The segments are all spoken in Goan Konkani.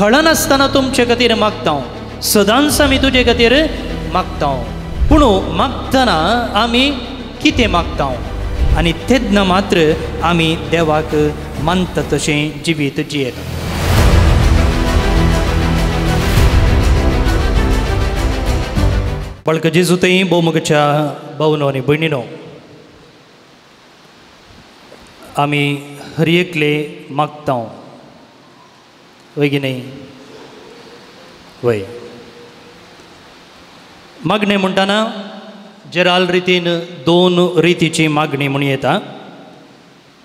कळनासतना तुमचे खातीर मागता, सदांच आमी तुजे खातीर मागता. पूण मागतना आमी कितें मागता आनी तेन्ना मात्र आमी देवाक मानता तशें जिवीत जियेता. बाळक जेजू थंय भोवमुखाच्या भावनो आनी भयणीनो, आमी हर एकले मागता, वय की न्हय? वय. मागणें म्हणटना जेराल रितीन दोन रितीची मागणी म्हूण येता.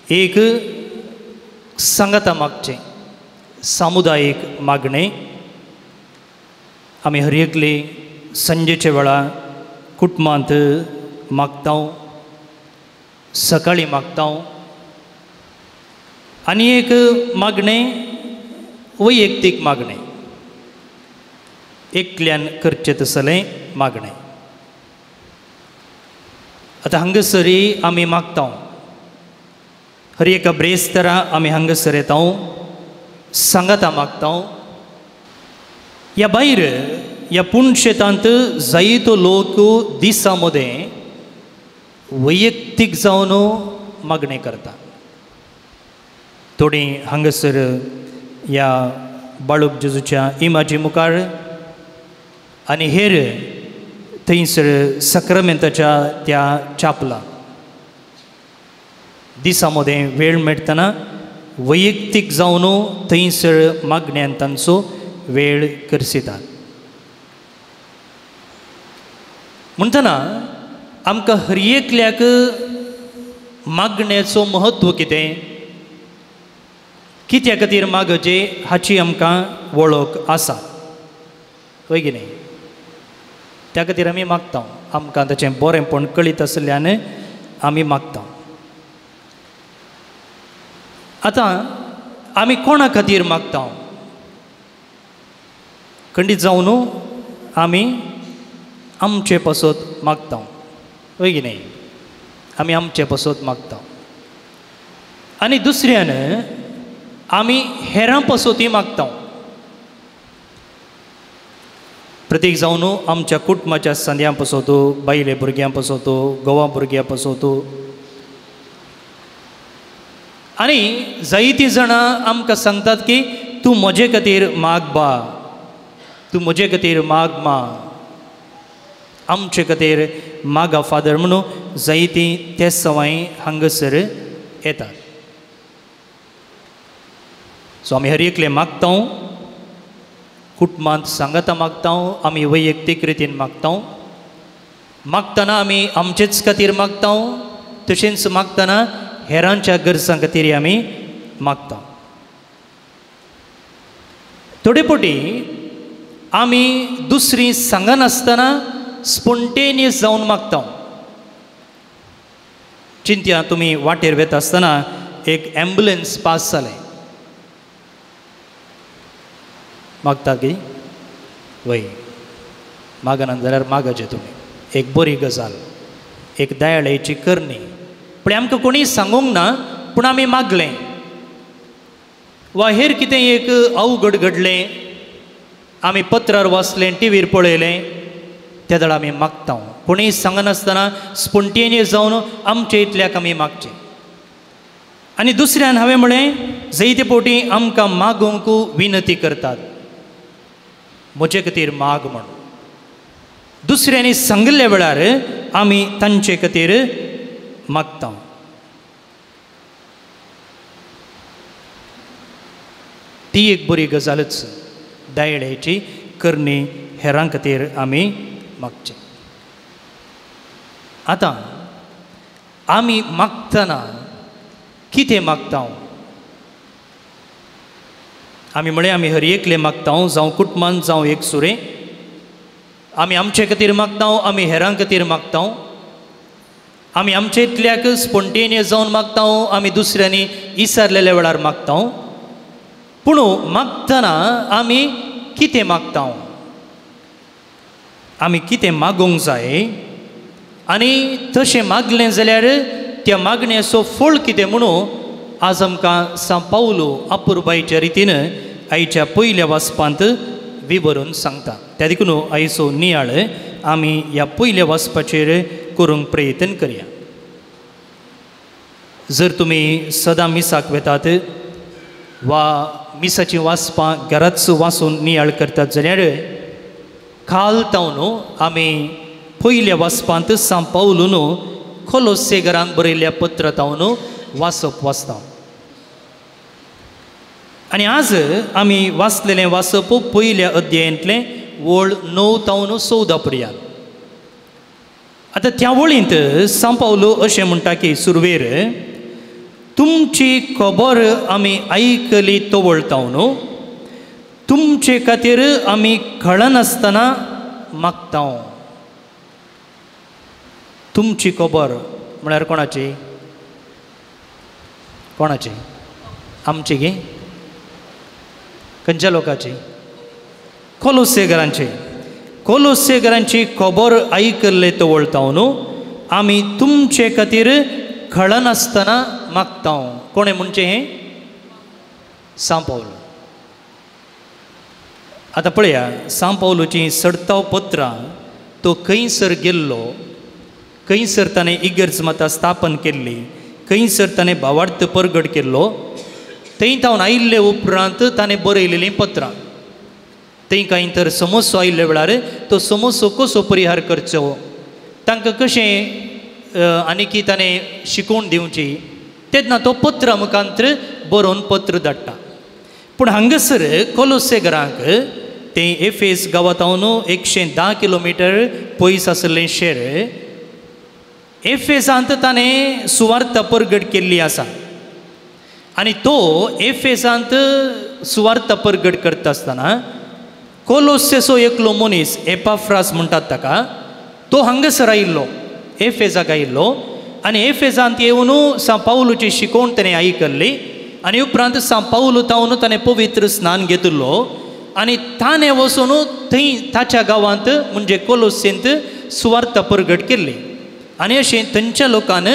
एक सांगाता मागचें, सामुदायीक मागणें. आमी हर एकले संजेच्या वेळा कुटुंबांत मागता, सकाळीं मागता. आनी एक मागणें वैयक्तीक मागणें, एकल्यान करचें तसलें मागणें. आतां हांगासरी आमी मागता, हर एका ब्रेस्तारा आमी हांगासर येता, सांगाता मागता. ह्या भायर ह्या पुणशेतांत जायतो लोक दिसा मदें वैयक्तीक जावन मागणें करता. थोडीं हांगासर ह्या बाळूक जेजूच्या इमाजी मुखार आनी हेर थंयसर सक्रामेंताच्या त्या चापला दिसा मदें वेळ मेळटना वैयक्तीक जावन थंयसर मागण्यान तांचो वेळ करसितात. म्हणटना आमकां हर एकल्याक मागण्याचो म्हत्व कितें, कित्या खातीर मागचें हाची आमकां वळख आसा, हय की न्हय? त्या खातीर आमी मागता, आमकां ताचें बरेंपण कळीत आशिल्ल्यान आमी मागता. आतां आमी कोणा खातीर मागता? खंडीत जावन आमी आमचे पासत मागता, हय की न्हय? आमी आमचे पासत मागता. आनी दुसऱ्यान आमी हेरां पासतूय मागता. प्रतीक जावन आमच्या कुटुंबाच्या संद्यां पासत, बायले भुरग्यां पासत, गोवा भुरग्यां पासत. आनी जायतीं जाणां आमकां सांगतात की तूं म्हजे खातीर माग बा, तूं म्हजे खातीर माग मा, आमचे खातीर मागा फादर म्हणून जायतीं ते सवाय हांगासर येतात. सो आमी हर एकले मागता, कुटुंबांत सांगाता मागता, आमी वैयक्तीक रितीन मागता. मागतना आमी आमचेच खातीर मागता, तशेंच मागतना हेरांच्या गरजां खातीर आमी मागता. थोडे फावटी आमी दुसरी सांगनासतना स्पोन्टेनियस जावन मागता. चिंत्या तुमी वाटेर वेता आसतना एक एम्बुलन्स पास जालें, मागता की वय? मागना जाल्यार मागचें तुमी, एक बरी गजाल, एक दयाळेची करणी. पूण आमकां कोणीय सांगूंक ना, पूण आमी मागलें वा हेर कितें एक अवघड घडलें, आमी पत्रार वाचलें, टिवीर पळयलें, त्या वेळार आमी मागता. कोणीय सांगनासतना स्पोन्टेनियस जावन आमचे इतल्याक आमी मागचें. आनी दुसऱ्यान हांवें म्हळें, जायते फावटी आमकां मागूंक विनंती करतात, म्हजे खातीर माग म्हण. दुसऱ्यांनी सांगिल्ल्या वेळार आमी तांचे खातीर मागता. ती एक बरी गजालच, दयाळेची करणी हेरां खातीर आमी मागचें. आतां आमी मागतना कितें मागता? आमी म्हळें आमी हर एकले मागता, जावं कुटुंबान जावं एक सुरें. आमी आमचे खातीर मागता, आमी हेरां खातीर मागता. आमी आमचे इतल्याक स्पोन्टेनियस जावन मागता, आमी दुसऱ्यांनी विसरलेल्या वेळार मागता. पूण मागतना आमी कितें मागता? आमी कितें मागूंक जाय आनी तशें मागलें जाल्यार त्या मागण्याचो फळ कितें म्हणून आज आमकां सांव पावलो अपुरबायेच्या रितीन आयच्या पयल्या वाचपांत विवरून सांगता. त्या देखून आयचो नियाळ आमी ह्या पयल्या वाचपाचेर करूंक प्रयत्न करया. जर तुमी सदां मिसाक वेतात वा मिसाचीं वाचपां घराच वाचून नियाळ करतात जाल्यार काल तावन आमी पयल्या वाचपांत सांत पावलून कोलोसेगरांक बरयल्ल्या पत्र तावन वाचप वाचता. आनी आज आमी वाचलेलें वाचप पयल्या अध्यायांतलें वळ 9 तावन 14 पर्यंत. आतां त्या वळींत सांत पावलो अशें म्हणटा की सुरवेर तुमची खबर आमी आयकली तवळताव न्हू, तुमचे खातीर आमी कळनासतना मागताव. तुमची खबर म्हळ्यार कोणाची? कोणाची? आमची गे? खंयच्या लोकांची? कोलोसेगरांची. कोलोसेगरांची खबर आयकल्ले तवळताव न्हू आमी तुमचे खातीर कळनासतना मागताव. कोणें म्हणचें हें? सांत पावल. आतां पळया सांत पावलूचीं सडताव पत्रां तो खंयसर गेल्लो, खंयसर ताणें इगर्ज माता स्थापन केल्ली, खंयसर ताणें भावार्थ परगट केल्लो, थंय तावन आयिल्ले उपरांत ताणें बरयलेलीं पत्रां. थंय कांय तर समस्या आयिल्ल्या वेळार तो समस्या कसो परिहार करचो, तांकां कशें आनीकी ताणें शिकोवन दिवची, तेन्ना तो पत्र मुखांतर बरोवन पत्र धाडटा. पूण हांगासर कोलोसेगरांक तें एफेस गांवांत 110 किलोमिटर पयस आशिल्लें शेर, एफेसांत ताणें सुवार्थ परगट केल्ली आसा. आनी तो एफेसांत सुवार्थ परगट करता आसतना कोलोसेचो एकलो मनीस एपाफ्रास म्हणटात ताका, तो हांगासर आयिल्लो, एफेजाक आयिल्लो. आनी एफेजांत येवन सांत पावलूची शिकोवण ताणें आयकल्ली आनी उपरांत सांत पावलू तावन ताणें पवित्र स्नान घेतिल्लो आनी ताणें वचून थंय ताच्या गांवांत म्हणजे कोलोसेंत सुवार्थ परगट केल्ली. आनी अशें थंयच्या लोकान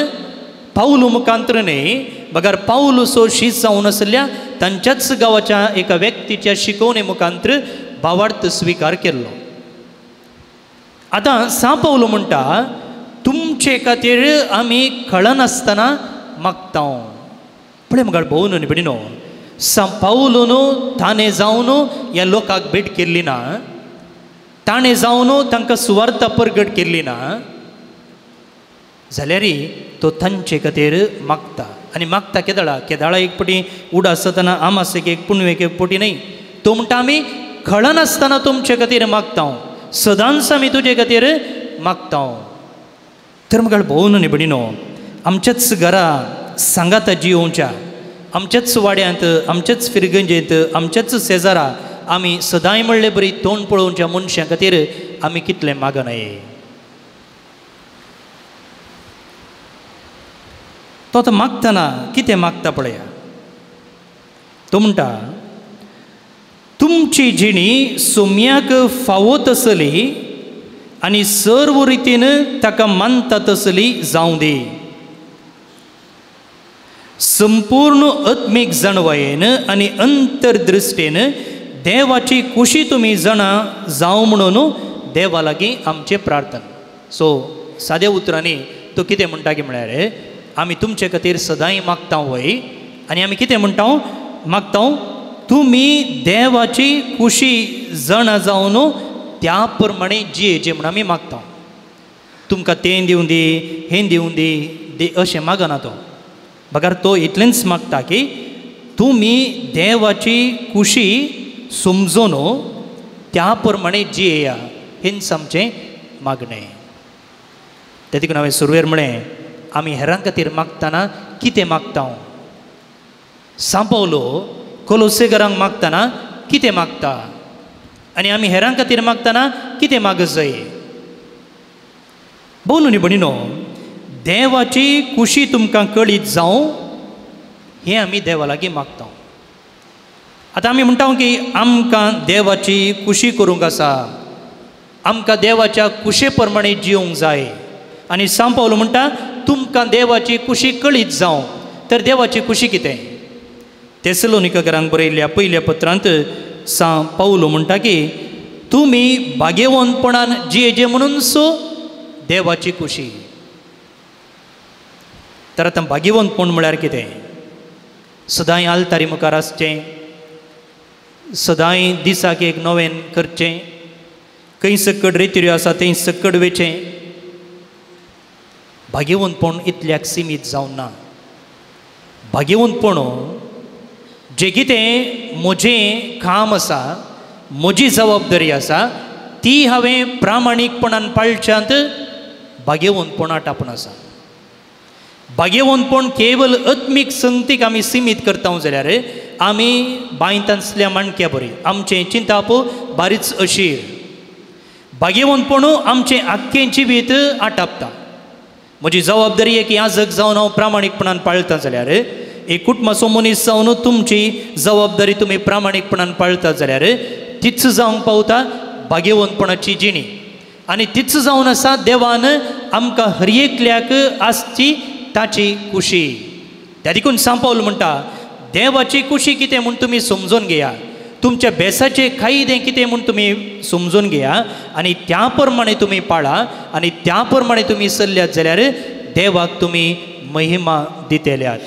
पावलू मुखांतर न्हय बगर पावलूचो शीत जावन आशिल्ल्या तांच्याच गांवाच्या एका व्यक्तीच्या शिकोवणे मुखांतर भावार्थ स्विकार केल्लो. आतां सांत पावलू म्हणटा तुमचे खातीर आमी कळनासतना मागताव. पळय मुखार भोव न्हय भयणीनो, सांत पावलून ताणें जावन ह्या लोकांक भेट केल्ली ना, ताणें जावन तांकां सुवार्थ परगट केल्ली ना, जाल्यार तो तांचे खातीर मागता. आनी मागता केदाळा? केदाळा एक पटी उडास जातना आमासेक एक पुनवेक एक पटी न्हय, तो म्हणटा आमी कळनासतना तुमचे खातीर मागताव, सदांच आमी तुजे खातीर मागताव. तर मुखार भोव न्हय भयणीनो, आमच्याच घरा सांगाता जियोवच्या, आमच्याच वाड्यांत, आमच्याच फिरगंजेंत, आमच्याच शेजारा आमी सदांय म्हणले बरी तोंड पळोवच्या मनशां खातीर आमी कितलें मागनाय. तो आतां मागतना कितें मागता पळया, तो म्हणटा तुमची जिणी सोम्याक फावो तसली आनी सर्व रितीन ताका मानता तसली जावं दी, संपूर्ण आत्मीक जाणवायेन आनी अंतर्दृश्टीन देवाची कुशी तुमी जाणा जावं म्हणून देवा लागीं आमचें प्रार्थना. सो साद्या उतरांनी तो कितें म्हणटा की म्हळ्यार आमी तुमचे खातीर सदांय मागता वय आनी आमी कितें म्हणटा मागता तुमी देवाची कुशी जाणा जावन त्या प्रमाणे जियेचें म्हूण आमी मागता. तुमकां तें दिवं दी, हें दिवं दी दे अशें मागना तो, बगर तो इतलेंच मागता की तुमी देवाची कुशी समजून त्या प्रमाणे जियेया, हेंच आमचें मागणें. ते देखून हांवें सुरवेर म्हळें आमी हेरां खातीर मागतना कितें मागता? सांत पावलो कोलोसेगरांक मागतना कितें मागता आनी आमी हेरां खातीर मागतना कितें मागत जाय? भोव न्हय भयणीनो, देवाची कुशी तुमकां कळीत जावं हें आमी देवा लागीं मागता. आतां आमी म्हणटा की आमकां देवाची कुशी करूंक आसा, आमकां देवाच्या कुशे प्रमाणे जिवंक जाय. आनी सांत पावलो म्हणटा तुमकां देवाची कुशी कळीत जावं. तर देवाची कुशी कितें? तेसलोनिकरांक बरयल्ल्या पयल्या पत्रांत सां पावलो म्हणटा की तुमी भाग्यवंतपणान जियेजे म्हणून सो देवाची खुशी. तर आतां भाग्यवंतपण म्हळ्यार कितें? सदांय आल्तारी मुखार आसचें, सदांय दिसाक एक नवेन करचें, खंय सक्कड रेतिऱ्यो आसा थंय सक्कड वेचें. भाग्यवंतपण इतल्याक सिमीत जावन ना. भाग्यवंतपण जें कितें म्हजें काम आसा, म्हजी जबाबदारी आसा, ती हांवें प्रामाणीकपणान पाळच्यांत भाग्यवंतपणा टापून आसा. भाग्यवंतपण केवल आत्मीक संगतीक आमी सिमीत करता जाल्यार आमी बांयतांतल्या माणक्या बरी, आमचें चिंताप बारीच अशीर. भाग्यवंतपण आमचें आख्खें जिवीत आटापता. म्हजी जबाबदारी एक याजक जावन हांव प्रामाणीकपणान पाळता जाल्यार, एक कुटुंबाचो मनीस जावन तुमची जबाबदारी तुमी प्रामाणीकपणान पाळता जाल्यार तीच जावंक पावता भाग्यवंतपणाची जिणी. आनी तीच जावन आसा देवान आमकां हर एकल्याक आसची ताची खुशी. त्या देखून सांपावल म्हणटा देवाची खुशी कितें म्हूण तुमी समजून घेया, तुमच्या बेसाचे कायदे कितें म्हूण तुमी समजून घेया आनी त्या प्रमाणे तुमी पाळा आनी त्या प्रमाणे तुमी चल्ल्यात जाल्यार देवाक तुमी महिमा दितल्यात.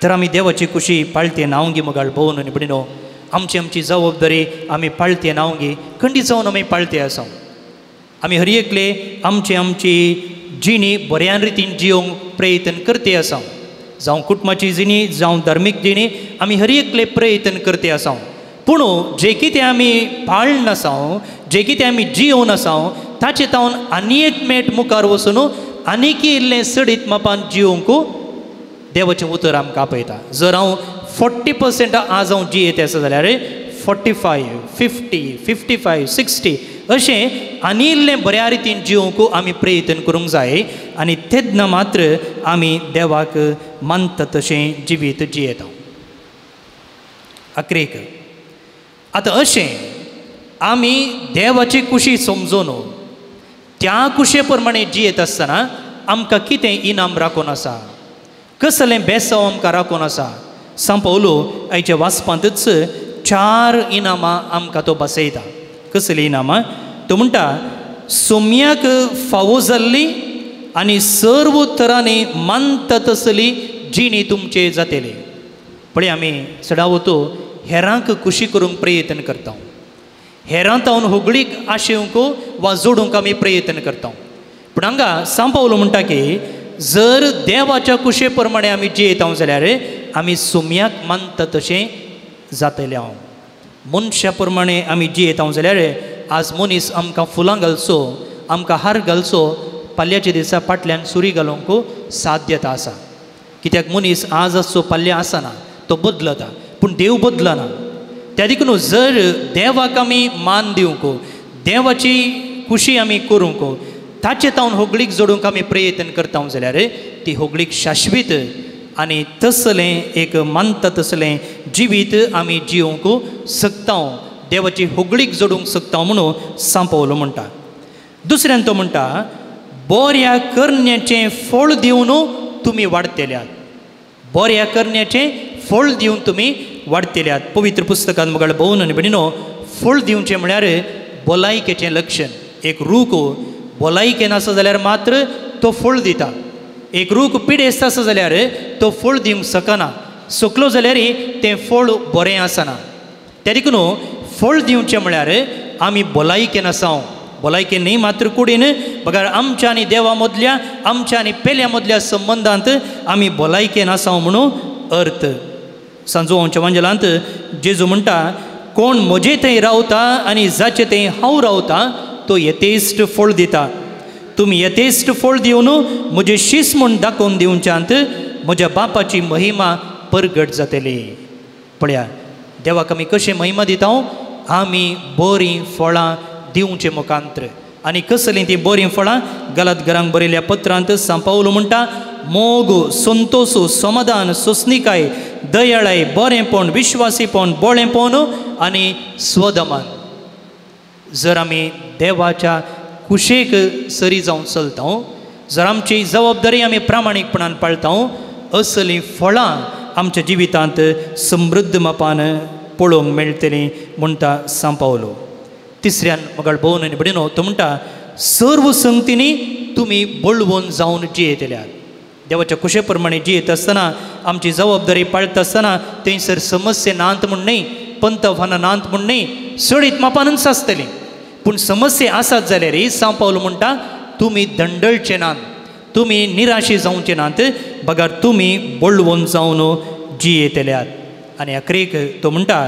तर आमी देवाची खुशी पाळते नांवगी मगाळ भोवन आनी भयणीनो, आमची आमची जबाबदारी आमी पाळते नांवगी खंडीत जावन आमी पाळते आसा. आमी हर एकले आमची आमची जिणी बऱ्या रितीन जियोंक प्रयत्न करते आसा. जावं कुटुंबाची जिणी, जावं धार्मीक जिणी, आमी हर एकले प्रयत्न करते आसा. पूण जे कितें आमी पाळन आसा, जे कितें आमी जियोवन आसा, ताचे तावन आनी एक मेट मुखार वचून आनीक इल्लें सडीत मापान जियोवंक देवाचें उतर आमकां आपयता. जर हांव 40% आज हांव जियेत आसा जाल्यार 45, 50, 55, 60 अशें आनी इल्लें बऱ्या रितीन जिवंक आमी प्रयत्न करूंक जाय आनी तेन्ना मात्र आमी देवाक मानता तशें जिवीत जियेता. अक्रेक आतां अशें आमी देवाची खुशी समजून त्या खुशे प्रमाणे जियेत आसतना आमकां कितें इनाम राखून आसा, कसलें बेसांव आमकां राखून आसा. सांव पावलो आयच्या वाचपांतच 4 इनामां आमकां तो बसयता. कसलीं इनामां? तो म्हणटा सोम्याक फावो जाल्ली आनी सर्व तरांनी मानता तसली जिणी तुमचे जातली. पळय आमी चडावतो हेरांक खुशी करूंक प्रयत्न करता, हेरां तावन होगळीक आशेवंक वा जोडूंक आमी प्रयत्न करता. पूण हांगा सांव पावलो म्हणटा की जर देवाच्या खुशे प्रमाणे आमी जियेता जाल्यार आमी सोम्याक मानता तशें जातलें. हांव मनशा प्रमाणे आमी जियेता जाल्यार आज मनीस आमकां फुलां घालचो, आमकां हार घालचो, पाल्याच्या दिसा फाटल्यान सुरी घालूंक साध्यता आसा. कित्याक मनीस आज आसचो पाल्या आसना, तो बदलता, पूण देव बदलना. त्या देखून जर देवाक आमी मान दिवंक, देवाची खुशी आमी करूंक, ताचे तावन होगळीक जोडूंक आमी प्रयत्न करता जाल्यार ती होगळीक शाश्वीत आनी तसलें एक मानता तसलें जिवीत आमी जिवंक शकता, देवाची होगळीक जोडूंक शकता म्हणून सांव पावलो म्हणटा. दुसऱ्यान तो म्हणटा बऱ्या करण्याचें फळ दिवन तुमी वाडटेल्यात, बऱ्या करण्याचें फळ दिवन तुमी वाडटेल्यात. पवित्र पुस्तकान मुखार भोवन आनी भयणीनो, फळ दिवचें म्हळ्यार भलायकेचें लक्षण. एक रूख भलायकेन आसा जाल्यार मात्र तो फळ दिता, एक रूख पिडेस्त आसा जाल्यार तो फळ दिवंक शकना, सुकलो जाल्यार तें फळ बरें आसना. त्या देखून फळ दिवचें म्हळ्यार आमी भलायकेन आसा, भलायकेन न्ही मात्र कुडीन बगर आमच्या आनी देवा मदल्या, आमच्या आनी पेल्या मदल्या संबंदांत आमी भलायकेन आसा म्हणून अर्थ. सांजोवांच्या वांजेलांत जेजू म्हणटा कोण म्हजे थंय रावता आनी जाचे थंय हांव रावता तो यथेश्ट फळ दिता. तुमी यथेश्ट फळ दिवन म्हजें शीस म्हूण दाखोवन दिवच्यांत म्हज्या बापाची महिमा परगट जातली. पळया देवाक आमी कशें महिमा दिता? आमी बरीं फळां दिवचें मुखांत्र. आनी कसलीं तीं बरीं फळां? गलात घरांक बरयल्ल्या पत्रांत सांव पावलो म्हणटा मोग, संतोश, समाधान, सोंसणीकाय, दयाळाय, बरेंपण, विश्वासीपण, बोळेपण आनी स्वदमन. जर आमी देवाच्या कुशेक सरी जावन चलता, जर आमची जबाबदारी आमी प्रामाणीकपणान पाळता, असलीं फळां आमच्या जिवितांत समृद्ध मापान पळोवंक मेळटली म्हणटा सांव पावलो. तिसऱ्यान मगाळ भोवन आनी भयणीनो तो म्हणटा सर्व संगतींनी तुमी बळवंत जावन जियेतल्यात. देवाच्या कुशे प्रमाणे जियेत आसतना आमची जबाबदारी पाळटा आसतना थंयसर समस्या नात म्हूण न्हय, पंतफानां नात म्हूण न्हय, सडीत मापानूच आसतली, पूण समस्या आसात जाल्यार सांव पावलो म्हणटा तुमी दंडळचे नात, तुमी निराशी जावचे नात, बगर तुमी बळवंत जावन जियेतल्यात. आनी अखेरेक तो म्हणटा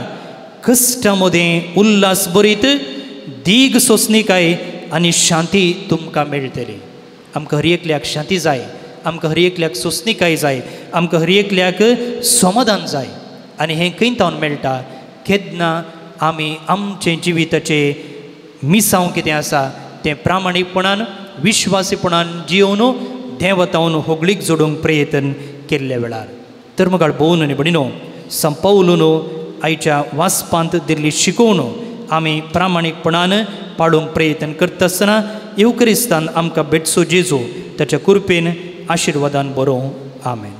कश्टा मदें उल्हास बरीत दीग सोंसणीकाय आनी शांती तुमकां मेळटली. आमकां हर एकल्याक शांती जाय, आमकां हर एकल्याक सोंसणीकाय जाय, आमकां हर एकल्याक समाधान जाय. आनी हें खंय तावन मेळटा? केन्ना आमी आमचें जिविताचें मिसांव कितें आसा तें प्रामाणीकपणान विश्वासीपणान जियोवन देवतावन होगळीक जोडूंक प्रयत्न केल्ल्या वेळार. तर मगाळ भोवन आनी भयणीनो सांव पावलून आयच्या वाचपांत दिल्ली शिकोवण आमी प्रामाणीकपणान पाळूंक प्रयत्न करता आसतना येवक्रिस्तान आमकां भेटचो जेजू ताच्या कृपेन आशिर्वादान बरोवं. आमेन.